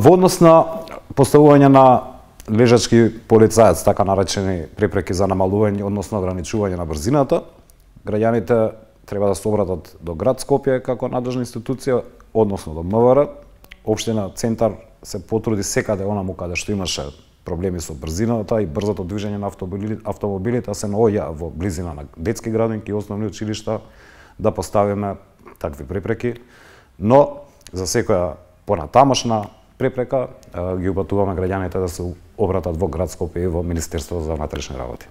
Во однос на поставување на лежачки полицаец, така наречени препреки за намалување, односно ограничување на брзината, граѓаните треба да се обратат до град Скопје како надлежна институција, односно до МВР. Општина Центар се потруди секаде онаму каде што имаше проблеми со брзината и брзото движење на автомобилите, се наоѓа во близина на детски градинки и основни училишта да поставиме такви препреки, но за секоја понатамошна препрека ги упатуваме граѓаните да се обратат во град Скопје и во Министерството за внатрешни работи.